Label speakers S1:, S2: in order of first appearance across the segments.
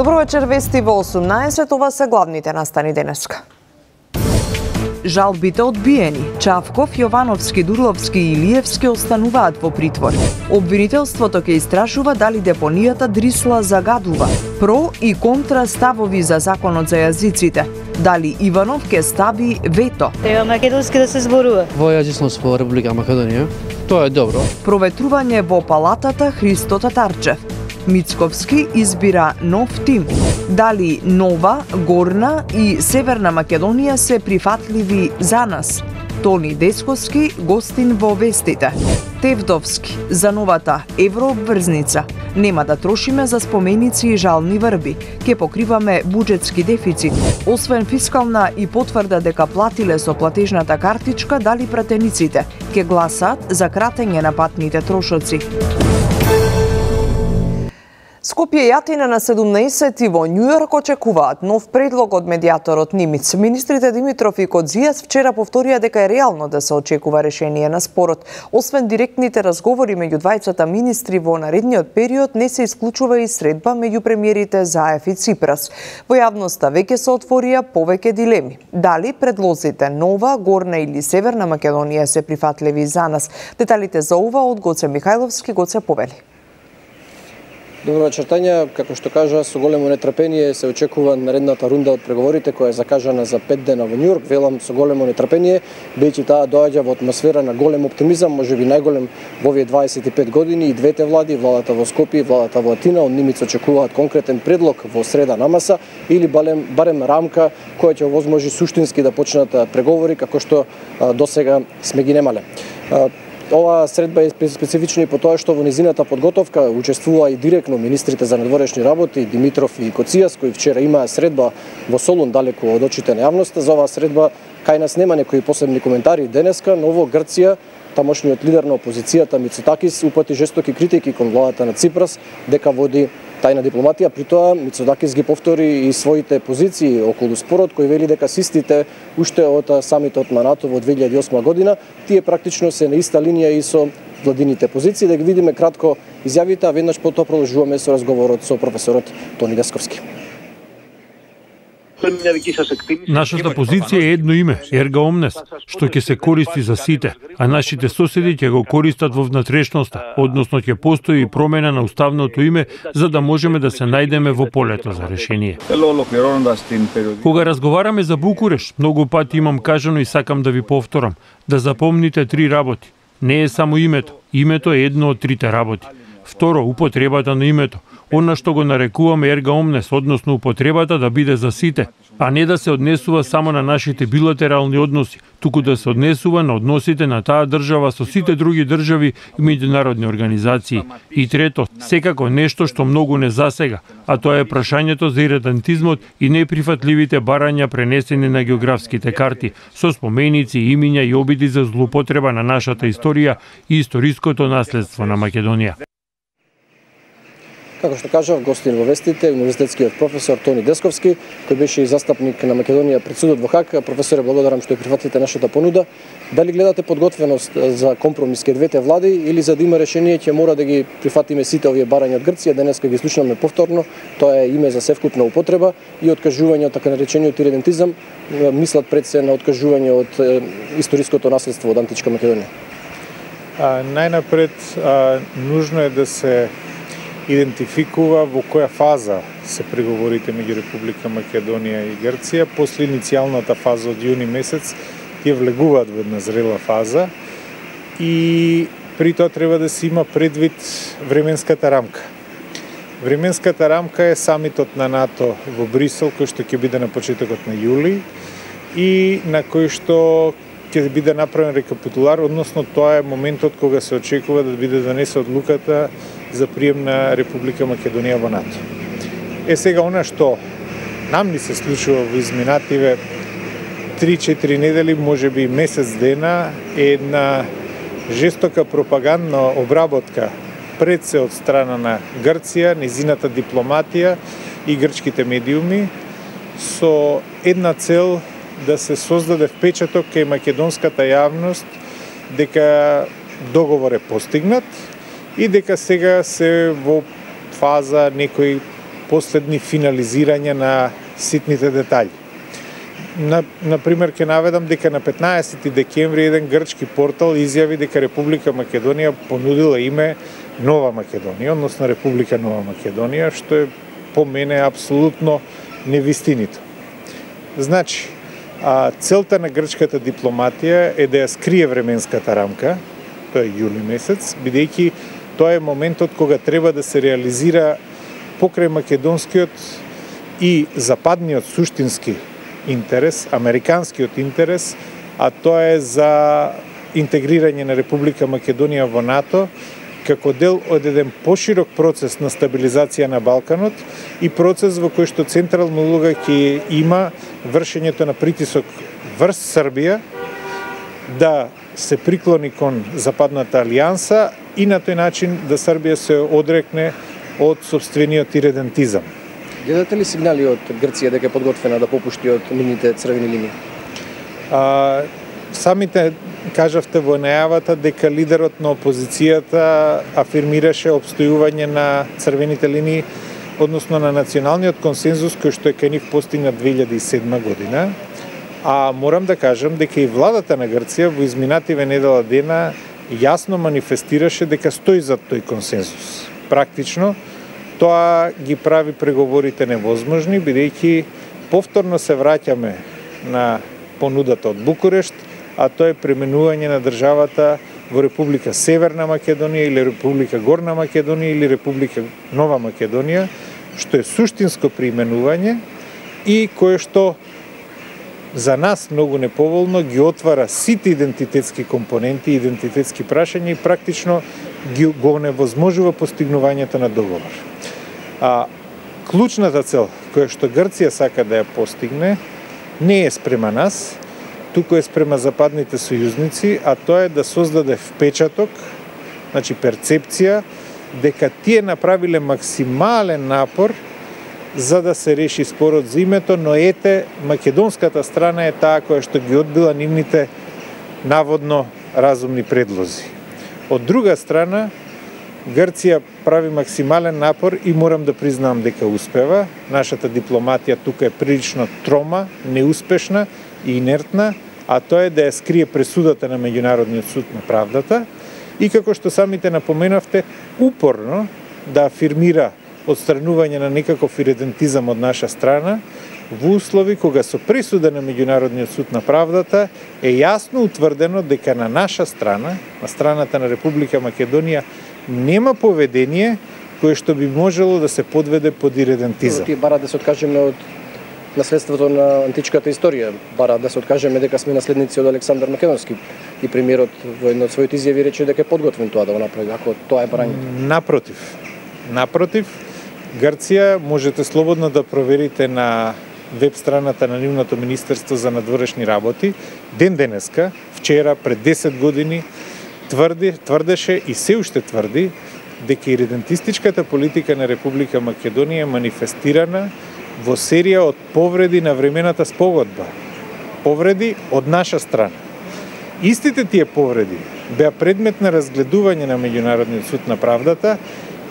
S1: Добро вечер, вести во 18, ова се главните настани денеска. Жалбите одбиени. Чавков, Јовановски, Дурловски и Илиевски остануваат во притвор. Обвинителството ќе истражува дали депонијата Дрисла загадува. Про и контра ставови за законот за јазиците. Дали Иванов ќе стави вето.
S2: Треба македонски да се зборува.
S3: Во јазичност во Република Македонија, тоа е добро.
S1: Проветрување во палатата Христо Татарчев. Мицковски избира нов тим. Дали Нова, Горна и Северна Македонија се прифатливи за нас? Тони Десковски гостин во вестите. Тевдовски за новата еврообврзница. Нема да трошиме за споменици и жални врби. Ке покриваме буџетски дефицит. Освен фискална и потврда дека платиле со платежната картичка, дали пратениците ке гласат за кратење на патните трошоци. Скопје и Атина на 17 и во Њујорк очекуваат нов предлог од медијаторот Нимиц. Министрите Димитров и Кодзијас вчера повторија дека е реално да се очекува решение на спорот. Освен директните разговори меѓу двајцата министри во наредниот период, не се исклучува и средба меѓу премиерите Заев и Ципрас. Во јавноста веќе се отворија повеќе дилеми. Дали предлозите Нова, Горна или Северна Македонија се прифатливи за нас? Деталите за ова од Гоце Михајловски, Гоце повели.
S4: Добро вечер, Тања. Како што кажа, со големо нетрпение се очекува наредната рунда од преговорите која е закажана за 5 дена во Њујорк. Велам со големо нетрпение, бидејќи таа доаѓа во атмосфера на голем оптимизам, можеби најголем во овие 25 години. И двете влади, владата во Скопје и владата во Атина, од Нимиц очекуваат конкретен предлог во среда на маса или барем рамка која ќе овозможи суштински да почнат преговори како што досега сме ги немале. Ова средба е специфична и по тоа што во низината подготовка учествува и директно министрите за надворешни работи Димитров и Коцијас, кои вчера имаа средба во Солун далеку од очите на јавноста. За оваа средба кај нас нема некои посебни коментари денеска, но во Грција тамошниот лидер на опозицијата Мицотакис упати жестоки критики кон владата на Ципрас дека води тајна дипломатија. При тоа Мицотакис ги повтори и своите позиции околу спорот, кој вели дека систите уште од самитот на НАТО во 2008 година, тие практично се на иста линија и со владините позиции. Да ги видиме кратко изјавите, а веднаш потоа продолжуваме со разговорот со професорот Тони Десковски.
S5: Нашата позиција е едно име, ерга омнес, што ќе се користи за сите, а нашите соседи ќе го користат во внатрешноста, односно ќе постои промена на уставното име за да можеме да се најдеме во полето за решение. Кога разговараме за Букуреш, многу пати имам кажано и сакам да ви повторам, да запомните 3 работи. Не е само името, името е едно од 3 работи. Второ, употребата на името. Она што го нарекуваме ерга омнес, односно употребата да биде за сите, а не да се однесува само на нашите билатерални односи, туку да се однесува на односите на таа држава со сите други држави и меѓународни организации. И трето, секако нешто што многу не засега, а тоа е прашањето за иредентизмот и неприфатливите барања пренесени на географските карти, со споменици, имиња и обиди за злоупотреба на нашата историја и историското наследство на Македонија.
S4: Како што кажав, гостин во вестите, универзитетскиот професор Тони Десковски, кој беше и застапник на Македонија пред судот во Хаг. Професоре, благодарам што ја прифатите нашата понуда. Дали гледате подготвеност за компромис ке двете влади или за да има решение ќе мора да ги прифатиме сите овие барања од Грција? Денеска ги слушнаме повторно. Тоа е име за севкупна употреба и откажување од така наречениот иридентизам. Мислат пред се на откажување од историското наследство од античка Македонија.
S6: Најнапред, нужно е да се идентификува во која фаза се преговорите меѓу Република Македонија и Грција. После иницијалната фаза од јуни месец тие влегуваат во една зрела фаза и при тоа треба да се има предвид временската рамка. Временската рамка е самитот на НАТО во Брисел, кој што ќе биде на почетокот на јули и на кој што ќе биде направен рекапитулар, односно тоа е моментот кога се очекува да биде донесе одлуката за прием на Република Македонија во НАТО. Сега она што нам ни се случува во изминативе 3-4 недели, можеби месец дена, е една жестока пропагандна обработка пред се од страна на Грција, незината дипломатија и грчките медиуми со една цел да се создаде впечаток кај македонската јавност дека договор е постигнат и дека сега се во фаза некои последни финализирања на ситните детали. Например, ќе наведам дека на 15 декември еден грчки портал изјави дека Република Македонија понудила име Нова Македонија, односно Република Нова Македонија, што е по мене апсолутно невистинито. Значи, целта на грчката дипломатија е да ја скрие временската рамка, тоа е јули месец, бидејќи тоа е моментот кога треба да се реализира покрај македонскиот и западниот суштински интерес, американскиот интерес, а тоа е за интегрирање на Република Македонија во НАТО, како дел од еден поширок процес на стабилизација на Балканот и процес во кој што централна улога ќе има вршењето на притисок врз Србија да се приклони кон Западната алијанса и на тој начин да Србија се одрекне од собствениот иредентизам.
S4: Гледате ли сигнали од Грција дека е подготвена да попушти од нивните црвени линии?
S6: Самите кажавте во најавата дека лидерот на опозицијата афирмираше обстојување на црвените линии, односно на националниот консензус кој што е кај нив постигнат 2007 година. А морам да кажам дека и владата на Грција во изминативе недела дена јасно манифестираше дека стои зад тој консензус. Практично, тоа ги прави преговорите невозможни, бидејќи повторно се враќаме на понудата од Букурешт, а тоа е пременување на државата во Република Северна Македонија или Република Горна Македонија или Република Нова Македонија, што е суштинско преименување и кое што за нас многу неповолно ги отвара сите идентитетски компоненти, идентитетски прашања и практично го невозможува постигнувањето на договор. Клучната цел која што Грција сака да ја постигне не е спрема нас, туку е спрема западните сојузници, а тоа е да создаде впечаток, значи перцепција, дека тие направиле максимален напор за да се реши спорот за името, но ете, македонската страна е таа која што ги одбила нивните наводно разумни предлози. Од друга страна, Грција прави максимален напор и морам да признам дека успева. Нашата дипломатија тука е прилично трома, неуспешна и инертна, а тоа е да ја скрие пресудата на Меѓународниот суд на правдата и како што самите напоменавте, упорно да афирмира отстранување на некаков иредентизам од наша страна, во услови кога со пресуда на Меѓународниот суд на правдата е јасно утврдено дека на наша страна, на страната на Република Македонија, нема поведение кое што би можело да се подведе под иредентизам.
S4: Тие барат да се откажеме од наследството на античката историја, барат да се откажеме дека сме наследници од Александар Македонски и премиерот во една од своите изјави рече дека е подготвен тоа да го направи, ако тоа е барање.
S6: Напротив, Грција можете слободно да проверите на веб страната на нивното Министерство за надворешни работи, ден денеска, вчера, пред 10 години, тврдеше и се уште тврди дека иредентистичката политика на Република Македонија е манифестирана во серија од повреди на времената спогодба. Повреди од наша страна. Истите тие повреди беа предмет на разгледување на Меѓународниот суд на правдата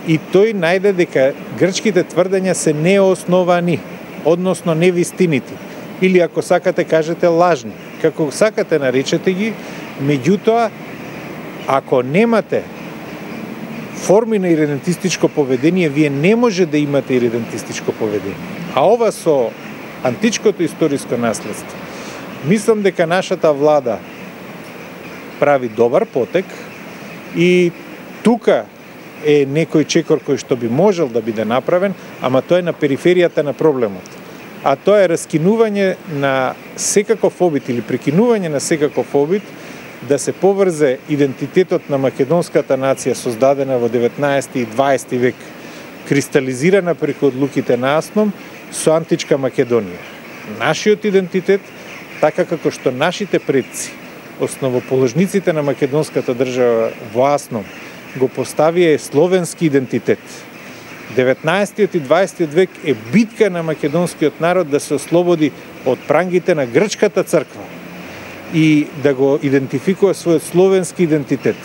S6: и тој најде дека грчките тврдења се неосновани, односно невистинити, или ако сакате кажете лажни, како сакате наречете ги, меѓутоа ако немате форми на иредентистичко поведение, вие не може да имате иредентистичко поведение. А ова со античкото историско наследство, мислам дека нашата влада прави добар потек и тука е некој чекор кој што би можел да биде направен, ама тоа е на периферијата на проблемот. А тоа е раскинување на секаков обид или прекинување на секаков обид да се поврзе идентитетот на македонската нација создадена во 19 и 20 век, кристализирана преку одлуките на Асном, со античка Македонија. Нашиот идентитет, така како што нашите предци, основоположниците на македонската држава во Асном, го поставија словенски идентитет. 19 и 20 век е битка на македонскиот народ да се ослободи од прангите на грчката црква и да го идентификува својот словенски идентитет.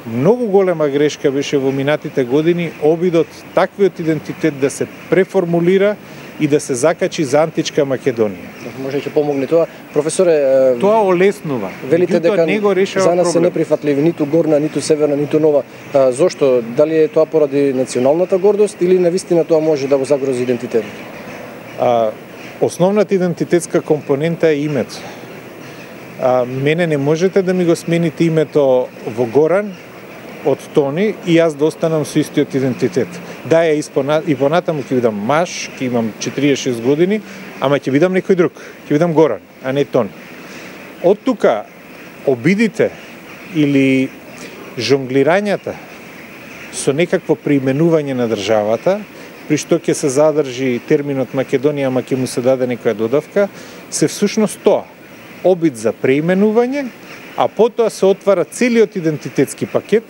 S6: Многу голема грешка беше во минатите години обидот таквиот идентитет да се преформулира и да се закачи за античка Македонија.
S4: Може ќе помогне тоа. Професоре,
S6: тоа олеснува.
S4: Велите дека
S6: не го решава
S4: за нас се
S6: проблем.
S4: неприфатливи ниту горна, ниту северна, ниту нова. Зошто? Дали е тоа поради националната гордост или навистина тоа може да го загрози идентитетот?
S6: Основната идентитетска компонента е името. Мене не можете да ми го смените името во Горан од Тони и јас да останам со истиот идентитет. Да, и понатаму ќе бидам маж, ќе имам 46 години, ама ќе бидам некој друг, ќе бидам Горан, а не Тони. Од тука обидите или жонглирањата со некакво преименување на државата, при што ќе се задржи терминот Македонија, ама ќе му се даде некоја додавка, се всушност тоа. Обид за преименување, а потоа се отвара целиот идентитетски пакет,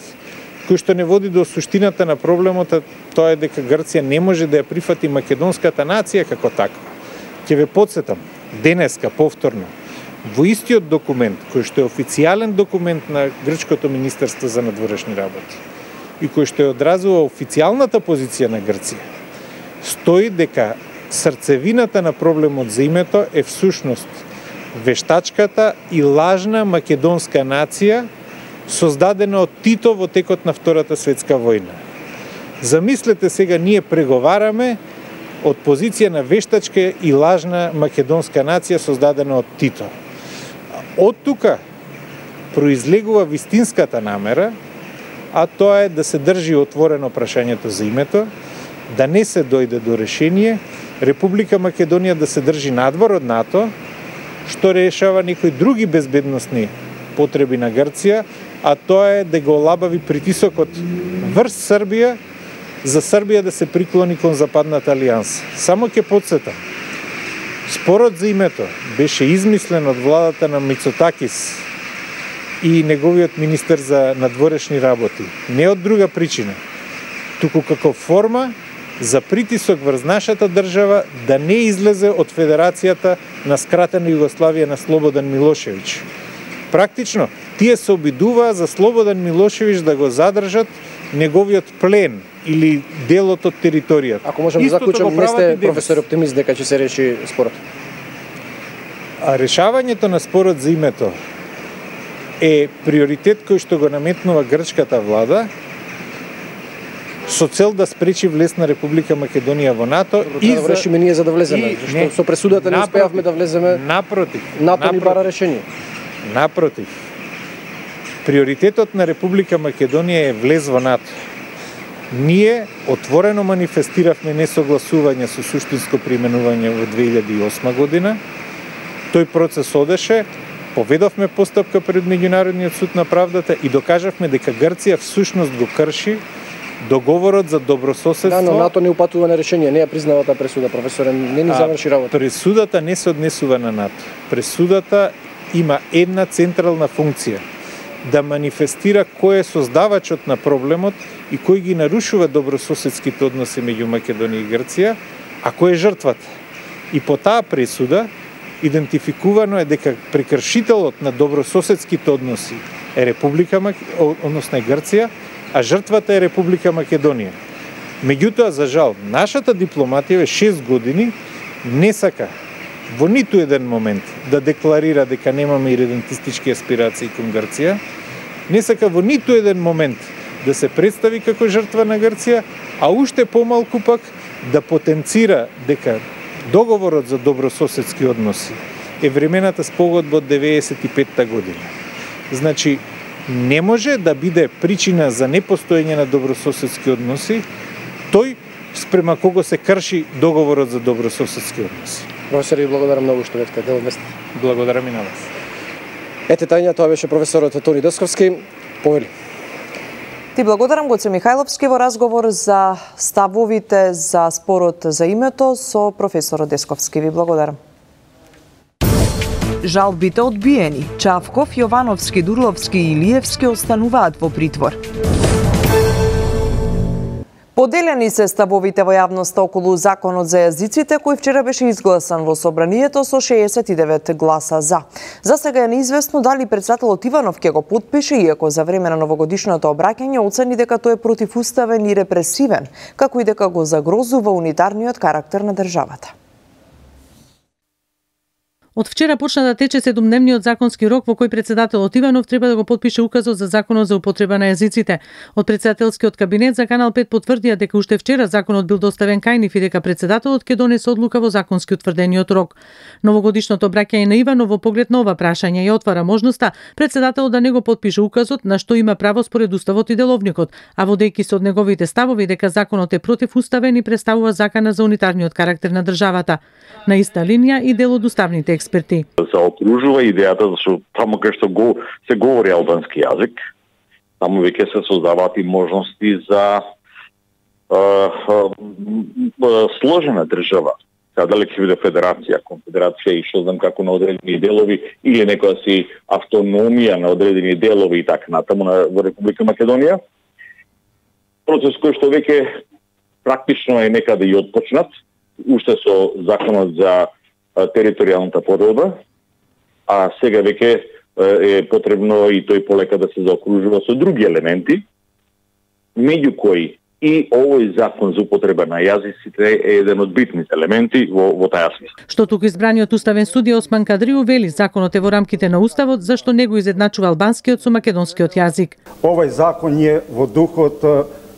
S6: кој што не води до суштината на проблемот, тоа е дека Грција не може да ја прифати македонската нација како таква. Ќе ве потсетам, денеска, повторно, во истиот документ, кој што е официјален документ на Грчкото Министерство за надворешни работи и кој што е одразува официјалната позиција на Грција, стои дека срцевината на проблемот за името е всушност вештачката и лажна македонска нација создадена од Тито во текот на Втората светска војна. Замислете сега, ние преговараме од позиција на вештачка и лажна македонска нација создадена од Тито. Од тука произлегува вистинската намера, а тоа е да се држи отворено прашањето за името, да не се дојде до решение, Република Македонија да се држи надвор од НАТО, што решава некои други безбедносни потреби на Грција, а тоа е да го олабави притисокот врз Србија, за Србија да се приклони кон Западната алијанса. Само ќе потсетам, спорот за името беше измислен од владата на Мицотакис и неговиот министер за надворешни работи. Не од друга причина, туку како форма за притисок врз нашата држава да не излезе од Федерацијата на скратена Југославија на Слободан Милошевиќ. Практично, тие се обидуваа за Слободан Милошевиќ да го задржат неговиот плен или делот од територијата.
S4: Ако можам да заклучам, не сте професор оптимист дека ќе се реши спорот?
S6: А решавањето на спорот за името е приоритет кој што го наметнува грчката влада со цел да спречи влез на Република Македонија во НАТО.
S4: И да решиме ние за да влеземе, што со пресудата не успеавме да влеземе.
S6: Напротив.
S4: НАТО ни бара решение.
S6: Напротив. Приоритетот на Република Македонија е влез во НАТО. Ние отворено манифестиравме несогласување со суштинско преименување во 2008 година. Тој процес одеше, поведовме постапка пред Меѓународниот суд на правдата и докажавме дека Грција всушност го крши договорот за добрососедство.
S4: Да, но НАТО не упатува на решение, не ја признава таа пресуда, професоре, не ни заврши работа.
S6: Пресудата не се однесува на НАТО. Пресудата има една централна функција, да манифестира кој е создавачот на проблемот и кој ги нарушува добрососедските односи меѓу Македонија и Грција, а кој е жртвата. И по таа пресуда идентификувано е дека прекршителот на добрососедските односи е односно е Грција, а жртвата е Република Македонија. Меѓутоа, за жал, нашата дипломатија 6 години не сака во ниту еден момент да декларира дека немаме иредентистички аспирации кон Грција, не сака во ниту еден момент да се представи како жртва на Грција, а уште помалку пак да потенцира дека договорот за добрососедски односи е времената спогодба од 95-та година. Значи, не може да биде причина за непостоење на добрососедски односи тој спрема кого се крши договорот за добрососедски односи.
S4: Професор, ви благодарам многу што бевте дел од место.
S6: Благодарам и на вас.
S4: Ете тајна, тоа беше професорот Тони Десковски. Повели.
S1: Ти благодарам, Гоце Михајловски, во разговор за ставовите за спорот за името со професорот Десковски. Ви благодарам. Жалбите одбиени. Чавков, Јовановски, Дурловски и Илиевски остануваат во притвор. Поделени се ставовите во јавноста околу законот за јазиците, кој вчера беше изгласан во собранието со 69 гласа за. За сега е неизвестно дали председателот Иванов ќе го потпише, иако за време на новогодишното обраќање оцени дека тој е противуставен и репресивен, како и дека го загрозува унитарниот карактер на државата.
S7: Од вчера почна да тече 7-дневниот законски рок во кој председателот Иванов треба да го потпише указот за законот за употреба на јазиците. Од председателскиот кабинет за Канал 5 потврдија дека уште вчера законот бил доставен кај нив и дека председателот ќе донесе одлука во законски утврдениот рок. Новогодишното обраќање на Иванов во поглед на ова прашање ја отвара можноста председателот да не го потпише указот, на што има право според уставот и деловникот, а водејќи се од неговите ставови дека законот е противуставен и представува закана за унитарниот карактер на државата. На иста линија и дел од уставните експерти.
S8: Се окружува идејата зашто таму кај што се говори албански јазик, таму веќе се создаваат и можности за сложена држава. Сега дали ќе биде федерација, конфедерација и што знам како на одредени делови или некоја си автономија на одредени делови и така натаму во Република Македонија. Процес кој што веќе практично е некаде и отпочнат, уште со законот за територијалната поделба, а сега веќе е потребно и тој полека да се заокружува со други елементи, меѓу кои и овој закон за употреба на јазиците е еден од битните елементи во таа смисла.
S7: Што туку избраниот уставен судија Осман Кадриу вели законот е во рамките на уставот, зашто не го изедначува албанскиот со македонскиот јазик.
S9: Овој закон е во духот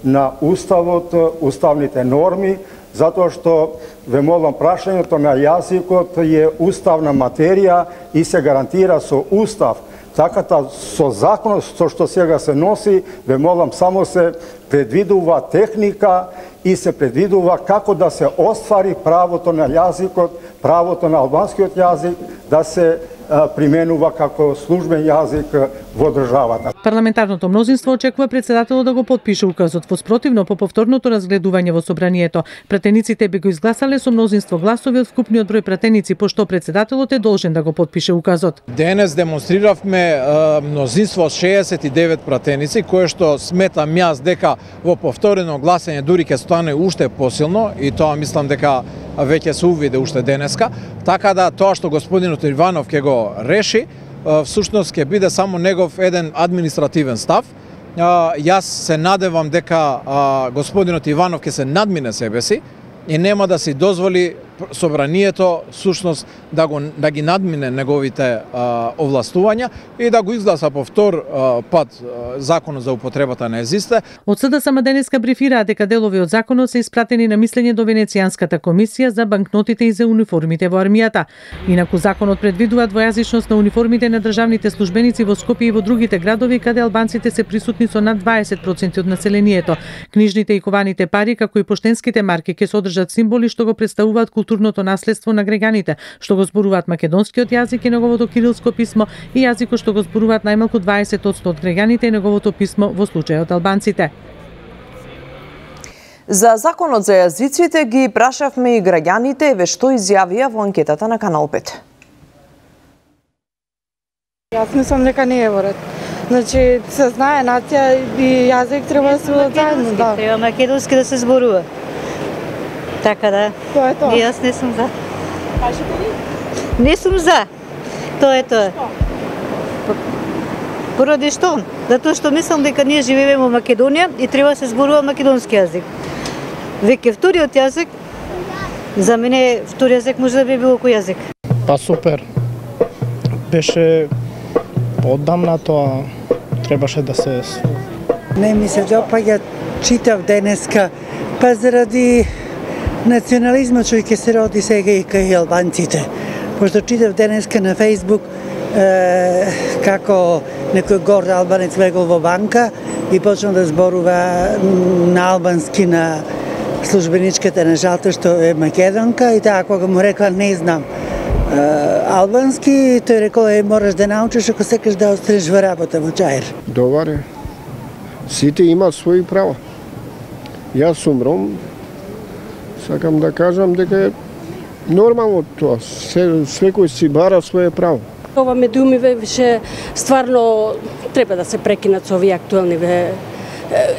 S9: на уставот, уставните норми, затоа што ве молам прашањето на јазикот е уставна материја и се гарантира со устав. Така со законот со што сега се носи, ве молам само се предвидува техника и се предвидува како да се оствари правото на јазикот, правото на албанскиот јазик да се применува како службен јазик во државата.
S7: Парламентарното мнозинство очекува председателот да го потпише указот, во спротивно по повторното разгледување во собранието. Пратениците би го изгласале со мнозинство гласови од вкупниот број пратеници, пошто председателот е должен да го потпише указот.
S10: Денес демонстрировме мнозинство од 69 пратеници, кое што сметам јас дека во повторено гласање дури ќе стане уште посилно и тоа мислам дека веќе се увиде уште денеска, така да тоа што господинот Иванов ќе го реши, всушност ќе биде само негов еден административен став. Јас се надевам дека господинот Иванов ќе се надмине себе си и нема да си дозволи собранието всушност да ги надмине неговите овластувања и да го изгласа повтор пат законот за употребата на јазиците.
S7: Од СДСМ денеска брифираат дека делови од законот се испратени на мислење до Венецијанската комисија за банкнотите и за униформите во армијата. Инаку законот предвидува двојазичност на униформите на државните службеници во Скопје и во другите градови каде албанците се присутни со над 20% од населението. Книжните и кованите пари, како и поштенските марки ќе содржат символи што го представуваат културното наследство на граѓаните, што го зборуваат македонскиот јазик и неговото кирилско писмо и јазикот што го зборуваат најмалку 20% од граѓаните и неговото писмо во случајот албанците.
S1: За законот за јазиците ги прашавме и граѓаните, еве што изјавија во анкетата на Канал 5.
S2: Јас мислам дека не е во ред. Значи, се знае нација и јазик треба да се заедно, да.
S11: Треба македонски да се зборува. Така да.
S2: Тоа е тоа.
S11: Јас не сум за.
S2: Кажете ли?
S11: Не сум за. Тоа е тоа. Поради што? Затоа што мислам дека ние живееме во Македонија и треба да се зборува македонски јазик. Веќе вториот јазик, за мене втори јазик може да би било кој јазик.
S12: Па супер. Беше оддамна тоа, требаше да се...
S13: Не ми се допаѓа, читав денеска, па заради национализмот што ќе се роди сега и кај албанците. Пошто читав денеска на Фејсбук како некој горд албанец влегол во банка и почнал да зборува на албански на службеничката на жалта што е македонка и таа кога му рекла не знам албански, тој рекол мораш да научиш ако сакаш да останеш во работа во Чаир.
S14: Добар е. Сите имаат своји права. Јас сум ром, сакам да кажам дека е нормално тоа. Секој си бара своје право.
S15: Ова ме думиве, више стварно треба да се прекинат со овие актуелни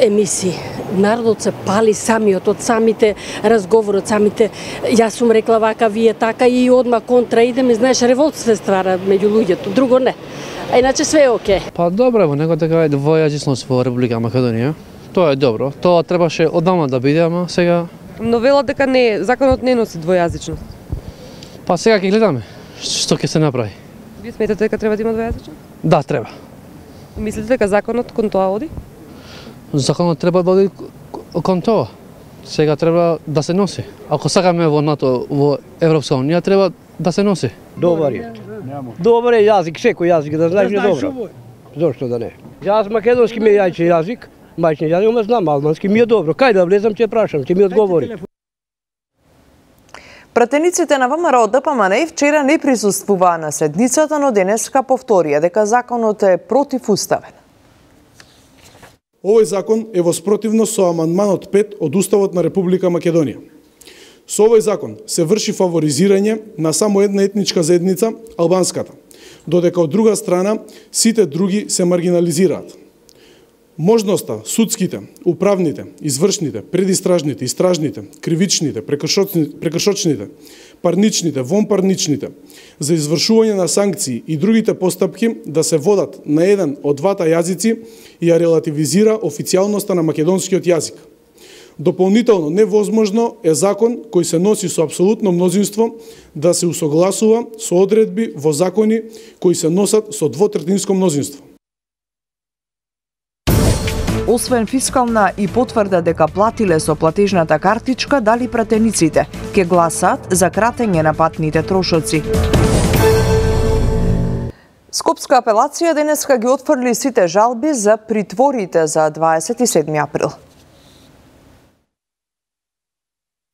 S15: емисии. народот се пали самиот од самите разговори, од самите јас сум рекла вака, вие така и одма контра идеме, знаеш, револт се ствара меѓу луѓето, друго не. А иначе све е окей.
S3: Па добро, во него така е двојазичност во Република Македонија. Тоа е добро. Тоа требаше одамна да биде, ама сега...
S16: Но велат дека не, законот не носи двојазичност.
S3: Па сега ќе гледаме што ќе се направи.
S16: Вие сметате дека треба да има двојазичност?
S3: Да, треба.
S16: Мислите дека законот кон тоа оди?
S3: Законот треба да оди кон тоа. Сега треба да се носи. Ако сакаме во НАТО, во Европска унија, треба да се носи.
S17: Добар е. Добар е јазик, секој јазик да знаеш е добро. Зошто да не? Јас македонски ми е јајче јазик, мајчин јазик, ама знам албански ми е добро. Кај да влезам ќе прашам, ќе ми одговори.
S1: Пратениците на ВМРО ДПМН вчера не присуствуваа на седницата, но денеска повторија дека законот е противуставен.
S18: Овој закон е во спротивност со амандманот 5 од Уставот на Република Македонија. Со овој закон се врши фаворизирање на само една етничка заедница, албанската, додека од друга страна сите други се маргинализираат. Можноста судските, управните, извршните, предистражните, истражните, кривичните, прекршочните, парничните, вонпарничните, за извршување на санкции и другите постапки да се водат на еден од двата јазици и ја релативизира официјалноста на македонскиот јазик. Дополнително невозможно е закон кој се носи со апсолутно мнозинство да се усогласува со одредби во закони кои се носат со двотретинско мнозинство.
S1: Освен фискална и потврда дека платиле со платежната картичка, дали пратениците ќе гласаат за кратење на патните трошоци. Скопска апелација денеска ги отфрли сите жалби за притворите за 27 април.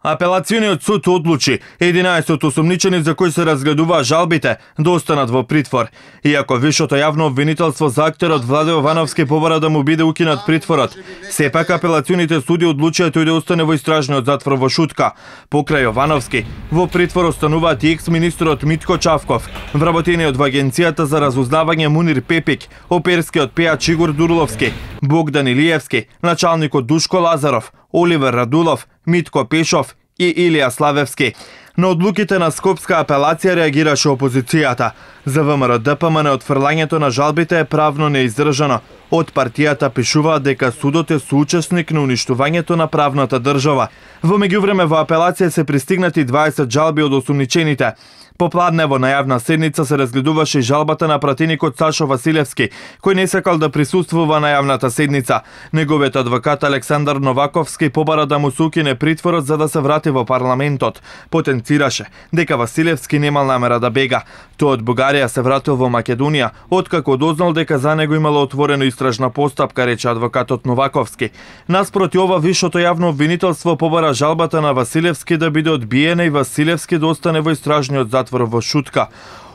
S19: Апелациониот суд одлучи 11 осумничени за кои се разгледуваа жалбите да останат во притвор. Иако вишото јавно обвинителство за актерот Владе Јовановски побара да му биде укинат притворот, сепак апелационите суди одлучија тој да остане во истражниот затвор во Шутка. Покрај Јовановски, во притвор остануваат и екс-министрот Митко Чавков, вработениот во Агенцијата за разузнавање Мунир Пепик, оперскиот пејач Игор Дурловски, Богдан Илиевски, началникот Душко Лазаров, Оливер Радулов, Митко Пешов и Илија Славевски. На одлуките на Скопска апелација реагираше опозицијата. За ВМРО ДПМН отфрлањето на жалбите е правно неиздржано. Од партијата пишуваат дека судот е соучесник на уништувањето на правната држава. Во меѓувреме во апелација се пристигнати 20 жалби од осумничените. Попладне во најавна седница се разгледуваше и жалбата на пратеникот Сашо Василевски, кој не сакал да присуствува на јавната седница. Неговиот адвокат Александар Новаковски побара да му се укине притворот за да се врати во парламентот. Потенцираше дека Василевски немал намера да бега. Тој од Бугарија се вратил во Македонија, откако дознал дека за него имало отворено истражна постапка, рече адвокатот Новаковски. Наспроти ова, вишото јавно обвинителство побара жалбата на Василевски да биде одбиена и Василевски да остане во истражниот затвор во Шутка.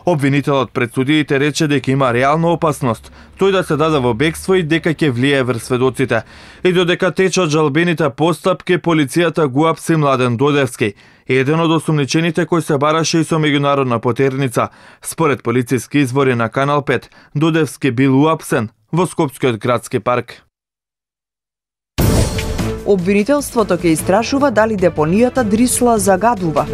S19: Обвинителот пред судиите рече дека има реална опасност тој да се даде во бегство и дека ќе влијае врз сведоците. И додека течат жалбените постапки, полицијата го апси Младен Додевски, еден од осумничените кој се бараше и со меѓународна потерница. Според полициски извори на Канал 5, Додевски бил уапсен во Скопскиот градски парк.
S1: Обвинителството ќе истражува дали депонијата Дрисла загадува.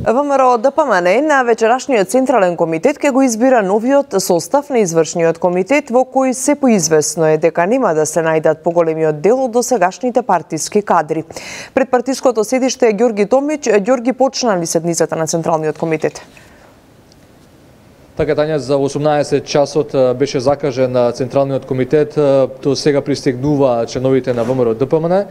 S1: ВМРО ДПМН на вечерашниот Централен комитет ќе го избира новиот состав на извршниот комитет, во кој се поизвестно е дека нема да се најдат поголемиот дел од досегашните партиски кадри. Пред партиското седиште е Ѓорги Томич. Ѓорги, почна ли седницата на Централниот комитет?
S20: Така, Тања, за 18 часот беше закажен Централниот комитет, до сега пристигнува членовите на ВМРО ДПМН.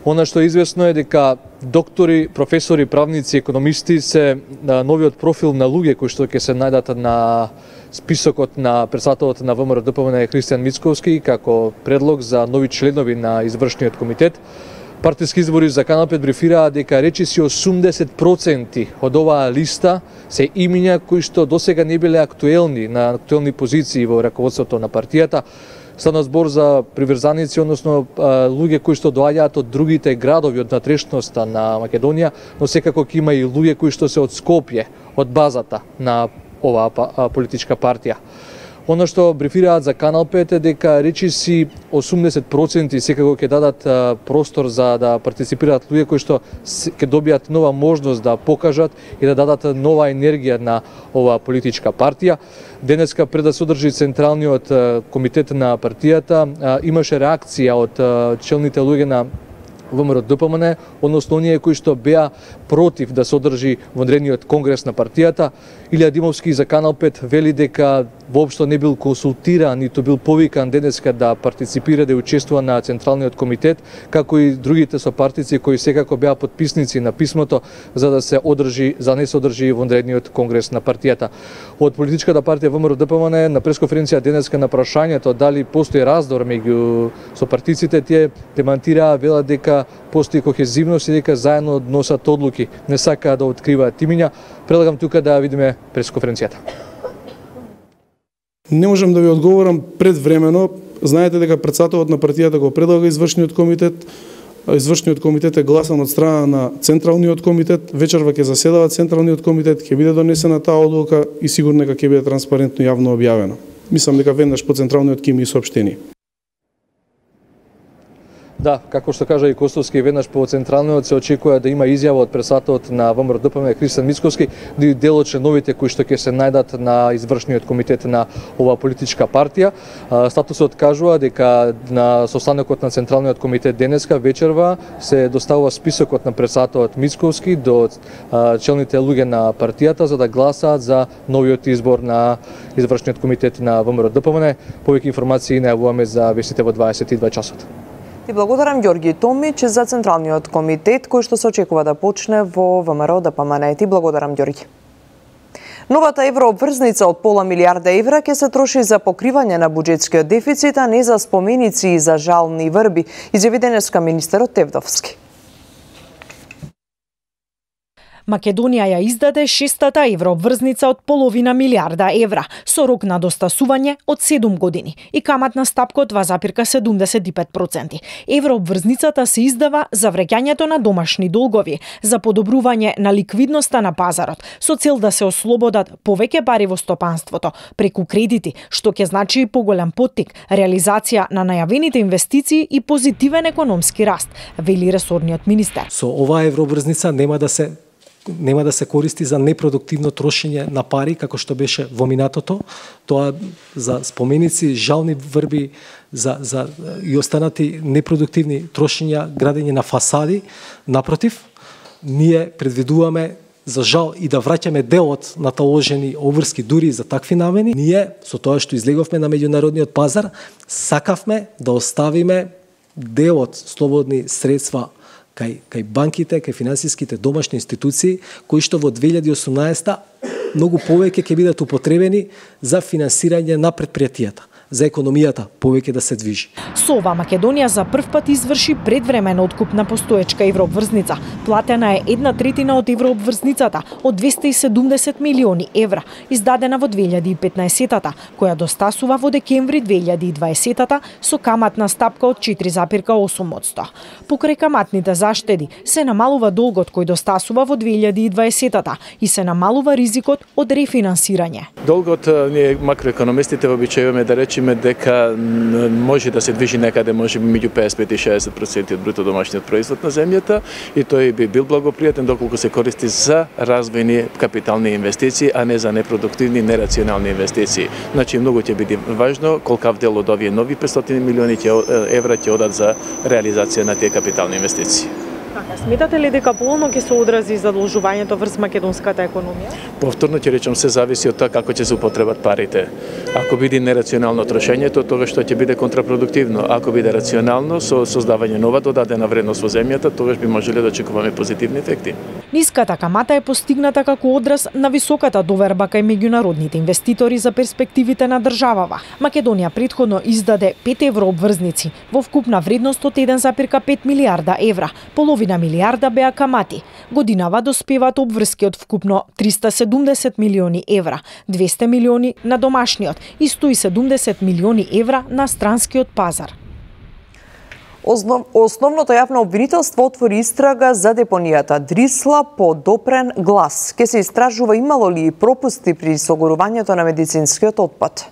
S20: Она што е известно е дека доктори, професори, правници, економисти се новиот профил на луѓе кои што ќе се најдат на списокот на председателот на ВМРО ДПМН Христијан Мицковски како предлог за нови членови на извршниот комитет. Партиски избори за Канал 5 брифираа дека речиси 80% од оваа листа се имиња кои што досега не биле актуелни на актуелни позиции во раководството на партијата. Стана збор за приврзаници, односно луѓе кои што доаѓаат од другите градови од натрешноста на Македонија, но секако ќе има и луѓе кои што се од Скопје, од базата на оваа политичка партија. Она што брифираат за Канал 5 е дека речиси 80% секако ќе дадат простор за да партиципираат луѓе кои што ќе добијат нова можност да покажат и да дадат нова енергија на оваа политичка партија. Денеска пред да се одржи централниот комитет на партијата имаше реакција од челните луѓе на ВМРО ДПМН, односно оние кои што беа против да се одржи вонредниот конгрес на партијата. Илија Димовски за Канал 5 вели дека воопшто не бил консултиран, ниту бил повикан денеска да партиципира, да учествува на Централниот комитет, како и другите сопартици кои секако беа потписници на писмото за да не се одржи вонредниот конгрес на партијата. Од политичката партија ВМРО ДПМН на пресконференција денеска на прашањето дали постои раздор меѓу сопартиците, тие демантираа, велат дека постои кохезивност и дека заедно носат одлуки, не сакаат да откриваат имиња. Предлагам тука да видиме пресконференцијата.
S18: Не можам да ви одговорам предвремено. Знаете дека председателот на партијата го предлага извршниот комитет. Извршниот комитет е гласан од страна на Централниот комитет. Вечерва ќе заседава Централниот комитет, ќе биде донесена таа одлука и сигурно дека ќе биде транспарентно и јавно објавена. Мислам дека веднаш по Централниот ќе ми соопштени.
S20: Да, како што кажа и Костовски, веднаш по Централниот се очекува да има изјава од председателот на ВМРО ДПМН Христијан Мицковски, да и дел од членовите кои што ќе се најдат на извршниот комитет на оваа политичка партија. Статусот кажува дека на состанокот на Централниот комитет денеска вечерва се доставува списокот на председателот Мицковски до челните луѓе на партијата за да гласаат за новиот избор на извршниот комитет на ВМРО ДПМН. Повеќе информации најавуваме за вестите во 22 часот.
S1: Ти благодарам Ѓорги Томич за Централниот комитет кој што се очекува да почне во ВМРО ДПМН. Ти благодарам Ѓорги. Новата еврообврзница од пола милиарда евра ќе се троши за покривање на буџетскиот дефицит, а не за споменици и за жални врби, изјави денеска министерот Тевдовски.
S21: Македонија ја издаде шестата еврообврзница од половина милиарда евра, со рок на достасување од 7 години и каматна стапка од 2,75%. Еврообврзницата се издава за враќањето на домашни долгови, за подобрување на ликвидноста на пазарот, со цел да се ослободат повеќе пари во стопанството, преку кредити, што ќе значи и поголем поттик, реализација на најавените инвестиции и позитивен економски раст, вели ресорниот министер.
S22: Со оваа еврообврзница нема да се користи за непродуктивно трошење на пари, како што беше во минатото, тоа за споменици, жални врби, за и останати непродуктивни трошења, градење на фасади. Напротив, ние предвидуваме за жал и да враќаме делот на таложени обврски дури за такви намени. Ние, со тоа што излеговме на меѓународниот пазар, сакавме да оставиме делот слободни средства кај банките, кај финансиските домашни институции, кои што во 2018 многу повеќе ќе бидат употребени за финансирање на предпријатијата, за економијата повеќе да се движи.
S21: Со ова Македонија за прв пат изврши предвремен откуп на постоечка еврообврзница. Платена е 1/3 од еврообврзницата од 270 милиони евра, издадена во 2015-та, која достасува во декември 2020-та со каматна стапка од 4,8%. Покрај каматните заштеди се намалува долгот кој достасува во 2020-та и се намалува ризикот од рефинансирање.
S23: Долгот ние макроекономистите обичајуваме да речеме дека може да се движи некаде може би меѓу 55 и 60% од бруто домашниот производ на земјата и тој би бил благопријатен доколку се користи за развојни капитални инвестиции, а не за непродуктивни, нерационални инвестиции. Значи многу ќе биде важно колкав дел од овие нови 500 милиони евра ќе одат за реализација на тие капитални инвестиции.
S21: Сметате ли дека полно ќе се одрази задолжувањето врз македонската економија?
S23: Повторно ќе речам, се зависи од тоа како ќе се употребат парите. Ако биде нерационално трошењето, тогаш тоа ќе биде контрапродуктивно. Ако биде рационално, со создавање нова додадена вредност во земјата, тогаш би можеле да очекуваме позитивни ефекти.
S21: Ниската камата е постигната како одраз на високата доверба кај меѓународните инвеститори за перспективите на државава. Македонија претходно издаде 5 еврообврзници во вкупна вредност од 1,5 милиарда евра. Половина милиарда беа камати. Годинава доспеваат обврски од вкупно 370 милиони евра, 200 милиони на домашниот и 170 милиони евра на странскиот пазар.
S1: Основното јавно обвинителство отвори истрага за депонијата Дрисла по допрен глас. Ке се истражува имало ли пропусти при согорувањето на медицинскиот отпад.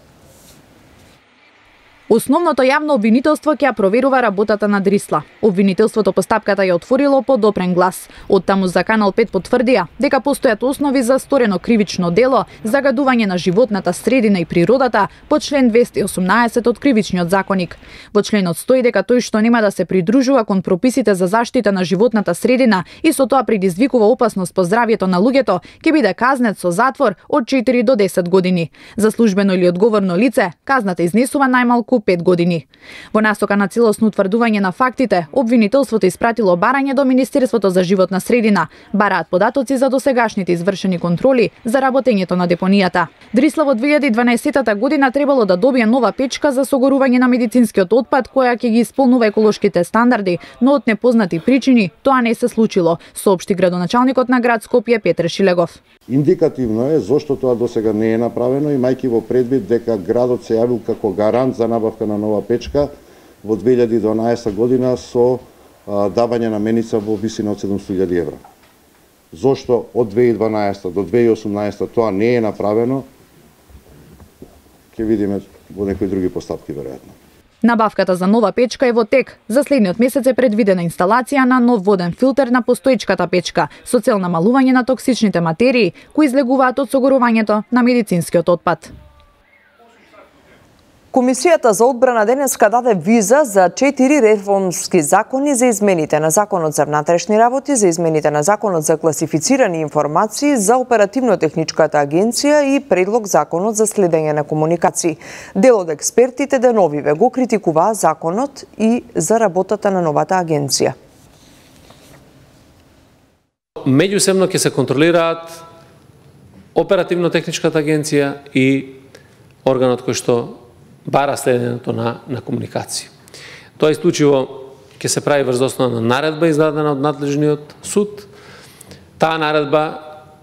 S4: Основното јавно обвинителство ќе ја проверува работата на Дрисла. Обвинителството по стапката ја отворило по допрен глас. Оттаму за Канал 5 потврдија дека постојат основи за сторено кривично дело, загадување на животната средина и природата по член 218 од Кривичниот законник. Во членот стои дека тој што нема да се придружува кон прописите за заштита на животната средина и со тоа предизвикува опасност по здравјето на луѓето, ќе биде казнет со затвор од 4 до 10 години. За службено или одговорно лице, казната изнесува најмалку 5 години. Во насока на целосно утврдување на фактите, обвинителството испратило барање до Министерството за животна средина. Бараат податоци за досегашните извршени контроли за работењето на депонијата. Дрисла во 2012 година требало да добие нова печка за согорување на медицинскиот отпад која ќе ги исполнува еколошките стандарди, но од непознати причини тоа не се случило, соопшти градоначалникот на град Скопје Петре Шилегов.
S5: Индикативно е зошто тоа досега не е направено, имајќи во предвид дека градот се јавил како гарант за набавка на нова печка во 2012 година со давање на меница во висина од 700.000 евра. Зошто од 2012 до 2018 тоа не е направено, ќе видиме во некои други постапки веројатно.
S4: Набавката за нова печка е во тек. За следниот месец е предвидена инсталација на нов воден филтер на постоечката печка со цел намалување на токсичните материи кои излегуваат од согорувањето на медицинскиот отпад.
S1: Комисијата за одбрана денеска даде виза за 4 реформски закони за измените на Законот за внатрешни работи, за измените на Законот за класифицирани информации, за оперативно-техничката агенција и предлог Законот за следење на комуникации. Дел од експертите деновиве го критикуваа законот и за работата на новата агенција.
S6: Меѓусебно ќе се контролираат оперативно-техничката агенција и органот кој што бара следењето на комуникација. Тоа исклучиво ќе се прави врз основа на наредба издадена од надлежниот суд. Таа наредба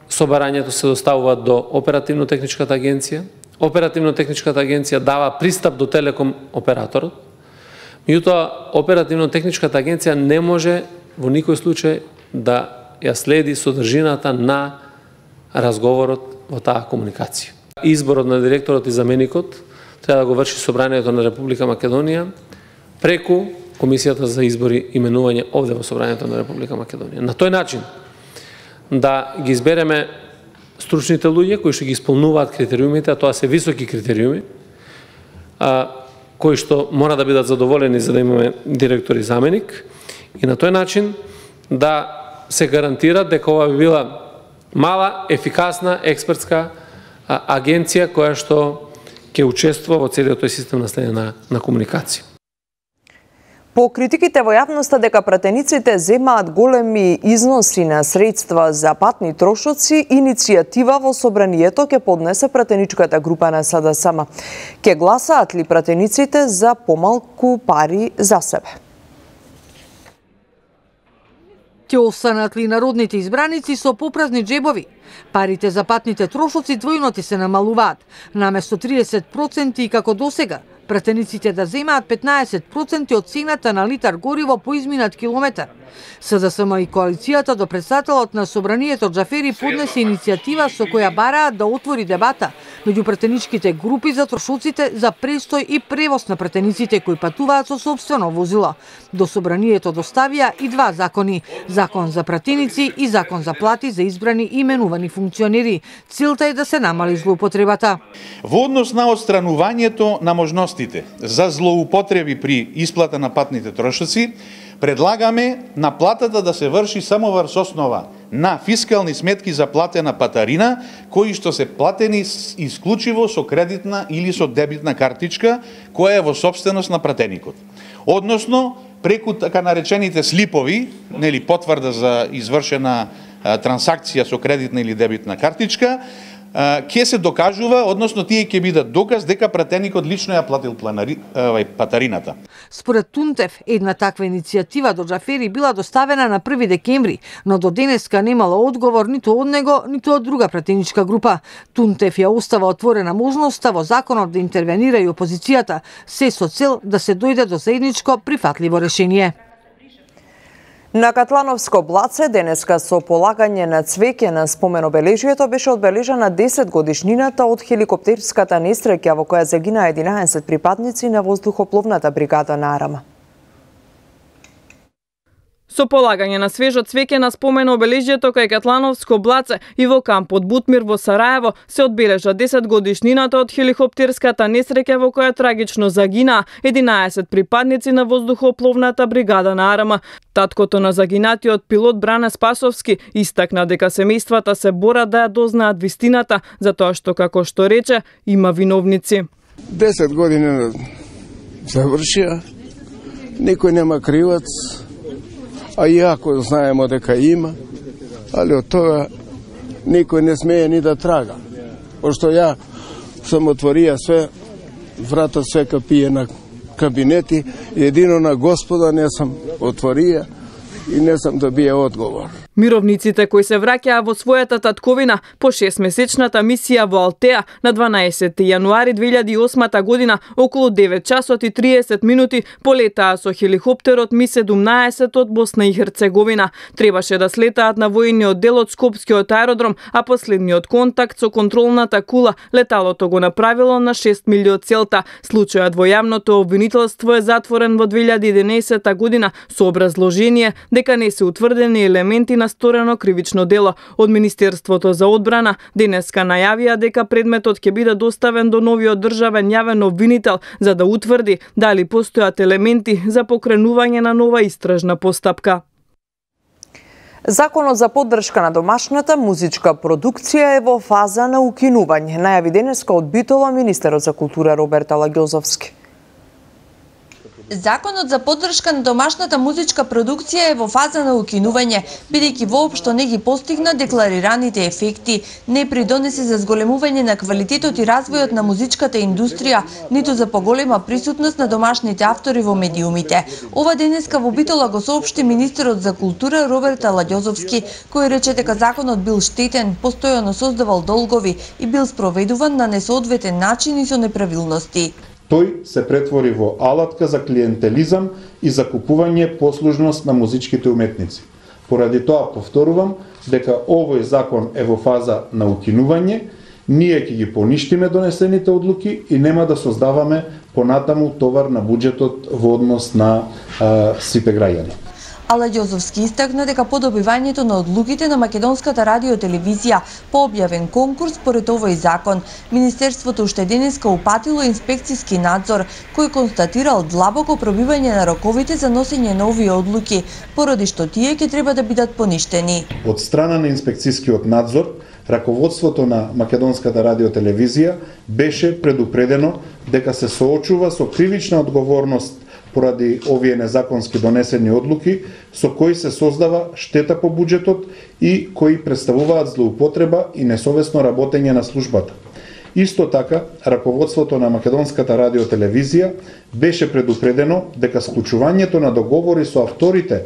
S6: со барањето се доставува до оперативно-техничката агенција. Оперативно-техничката агенција дава пристап до телеком операторот. Меѓутоа, оперативно-техничката агенција не може во никој случај да ја следи содржината на разговорот во таа комуникација. Изборот на директорот и заменикот треба да го врши Собранието на Република Македонија преку Комисијата за избори и именување овде во Собранието на Република Македонија. На тој начин да ги избереме стручните луѓе кои што ги исполнуваат критериумите, а тоа се високи критериуми, кои што мора да бидат задоволени за да имаме директор и заменик, и на тој начин да се гарантира дека ова би била мала, ефикасна, експертска агенција која што ќе учествува во целиот тој систем на следење на комуникација.
S1: По критиките во јавноста дека пратениците земаат големи износи на средства за патни трошоци, иницијатива во собранието ќе поднесе пратеничката група на СДСМ. Ќе гласаат ли пратениците за помалку пари за себе?
S24: Ќе останат ли народните избраници со попразни джебови? Парите за патните трошоци двојно се намалуваат, наместо 30% и како досега. Пратениците да земаат 15% од цената на литар гориво по изминат километар. СДСМ и коалицијата до председателот на Собранието Џафери поднесе иницијатива со која бараат да отвори дебата меѓу пратеничките групи за трошоците за престој и превоз на пратениците кои патуваат со сопствено возило. До Собранието доставија и два закони: Закон за пратеници и Закон за плати за избрани и именувани функционери. Целта е да се намали злоупотребата.
S25: Во однос на отстранувањето на можностите за злоупотреби при исплата на патните трошоци, предлагаме наплатата да се врши само врз основа на фискални сметки за платена патарина, кои што се платени исклучиво со кредитна или со дебитна картичка, која е во сопственост на пратеникот. Односно, преку така наречените слипови, нели потврда за извршена трансакција со кредитна или дебитна картичка, ќе се докажува, односно тие ќе бидат доказ дека пратеникот лично ја платил патарината.
S24: Според Тунтев, една таква иницијатива до Џафери била доставена на 1 декември, но до денеска немала одговор ниту од него, ниту од друга пратеничка група. Тунтев ја остава отворена можноста во законот да интервенира и опозицијата, се со цел да се дојде до заедничко прифатливо решение.
S1: На Катлановско блаце денеска со полагање на цвеќе на споменобележието беше одбележана 10 годишнината од хеликоптерската несреќа во која загина 11 припадници на воздухопловната бригада на Арама.
S2: Со полагање на свежо цвеќе на споменобележието кај Катлановско блаце и во кампот Бутмир во Сараево се одбележа 10 годишнината од хеликоптерската несреќа во која трагично загина 11 припадници на воздухопловната бригада на Арама. Таткото на загинатиот пилот Бране Спасовски истакна дека семејствата се борат да ја дознаат вистината, затоа што, како што рече, има виновници.
S14: 10 години завршија, никој нема кривац, а иако знаемо дека има, али од тоа никој не смее ни да трага. Пошто ја сам отворија све, врата све капие на кабинети, едино на Господа не сам отворија и не сам добија одговор.
S2: Мировниците кои се враќаа во својата татковина по 6-месечната мисија во Алтеа на 12 јануари 2008 година околу 9 часот и 30 минути полетаа со хеликоптерот Ми-17 од Босна и Херцеговина. Требаше да слетаат на војниот дел од Скопскиот аеродром, а последниот контакт со контролната кула леталото го направило на 6 милји од целта. Случајот во јавното обвинителство е затворен во 2011 година со образложение дека не се утврдени елементи на сторено кривично дело. Од Министерството за одбрана денеска најавија дека предметот ќе биде доставен до новиот државен јавен обвинител за да утврди дали постојат елементи за покренување на нова истражна постапка.
S1: Законот за поддршка на домашната музичка продукција е во фаза на укинување, најави денеска од Битола министерот за култура Роберт Алагјозовски.
S7: Законот за поддршка на домашната музичка продукција е во фаза на укинување, бидејќи воопшто не ги постигна декларираните ефекти, не придонесе за зголемување на квалитетот и развојот на музичката индустрија, ниту за поголема присутност на домашните автори во медиумите. Ова денеска во Битола го соопшти министерот за култура Роберт Алагјозовски, кој рече дека законот бил штетен, постојано создавал долгови и бил спроведуван на несоодветен начин и со неправилности.
S25: Тој се претвори во алатка за клиентелизам и за купување послужност на музичките уметници. Поради тоа повторувам дека овој закон е во фаза на укинување, ние ќе ги поништиме донесените одлуки и нема да создаваме понатаму товар на буџетот во однос на сите граѓани.
S7: Алагјозовски истакна дека по добивањето на одлуките на Македонската радиотелевизија по објавен конкурс според овој закон, Министерството уште денеска упатило инспекциски надзор, кој констатирал длабоко пробивање на роковите за носење на овие одлуки, поради што тие ќе треба да бидат поништени.
S25: Од страна на инспекцискиот надзор, раководството на Македонската радиотелевизија беше предупредено дека се соочува со кривична одговорност поради овие незаконски донесени одлуки, со кои се создава штета по буџетот и кои представуваат злоупотреба и несовесно работење на службата. Исто така, раководството на Македонската радиотелевизија беше предупредено дека склучувањето на договори со авторите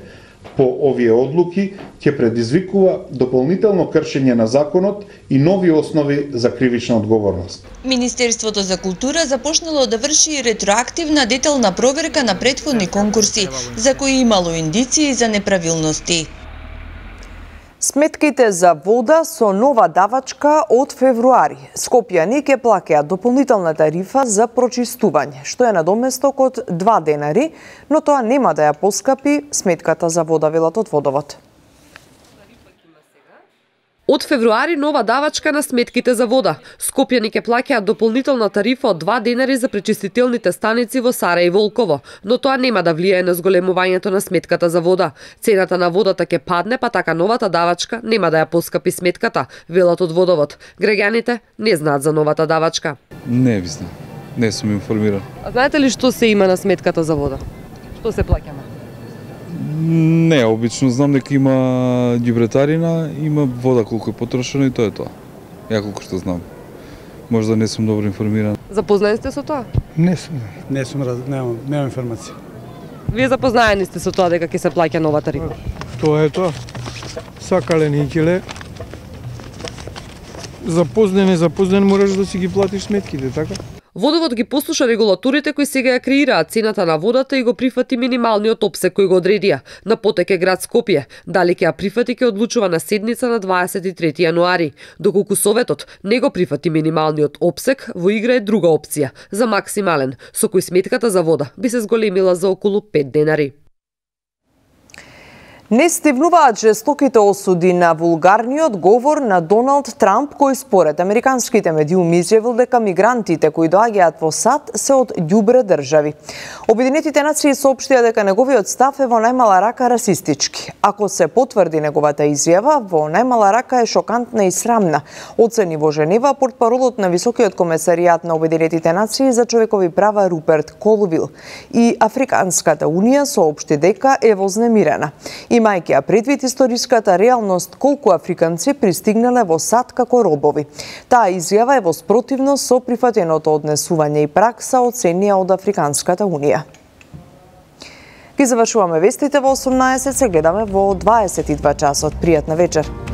S25: по овие одлуки ќе предизвикува дополнително кршење на законот и нови основи за кривична одговорност.
S7: Министерството за култура започнало да врши ретроактивна детална проверка на претходни конкурси, за кои имало индиции за неправилности.
S1: Сметките за вода со нова давачка од февруари. Скопјани ќе плаќаат дополнителна тарифа за прочистување, што е надоместок од 2 денари, но тоа нема да ја поскапи сметката за вода, велат од Водовод.
S8: Од февруари нова давачка на сметките за вода. Скопјани ќе плаќаат дополнителна тарифа од 2 денари за пречистителните станици во Сара и Волково, но тоа нема да влијае на зголемувањето на сметката за вода. Цената на водата ќе падне, па така новата давачка нема да ја поскапи сметката, велат од Водовод. Граѓаните не знаат за новата давачка.
S9: Не ви знам, не сум информиран.
S8: А знаете ли што се има на сметката за вода? Што се плаќа?
S9: Не, обично знам дека има ѓубретарина, има вода колку е потрошено и тоа е тоа. Ја колку што знам. Може да не сум добро информиран.
S8: Запознаени сте со тоа?
S10: Немам информација.
S8: Вие запознаени сте со тоа дека ќе се плаќа нова тарифа?
S10: Тоа е тоа. Сакале никеле. Запознен, запознен, мораш да си ги платиш сметките, така?
S8: Водовод ги послуша регулаторите кои сега ја креираат цената на водата и го прифати минималниот опсек кој го одредија. На потек е град Скопје. Дали ќе ја прифати ќе одлучува на седница на 23 јануари. Доколку Советот не го прифати минималниот опсек, во игра е друга опција за максимален, со кој сметката за вода би се зголемила за околу 5 денари.
S1: Не стивнуваат жестоките осуди на вулгарниот говор на Доналд Трамп, кој според американските медиуми изјавил дека мигрантите кои доаѓаат во САД се од ѓубре држави. Обединетите нации соопштија дека неговиот став е во најмала рака расистички. Ако се потврди неговата изјава, во најмала рака е шокантна и срамна, оцени во Женева портпаролот на Високиот комесаријат на Обединетите нации за човекови права Руперт Колвил. И Африканската унија соопшти дека е вознемирена. Имајќи ја предвид историската реалност колку африканци пристигнале во САД како робови. Таа изјава е во спротивност со прифатеното однесување и пракса оценија од Африканската унија. Ги завршуваме вестите во 18, се гледаме во 22 часот. Пријатна вечер.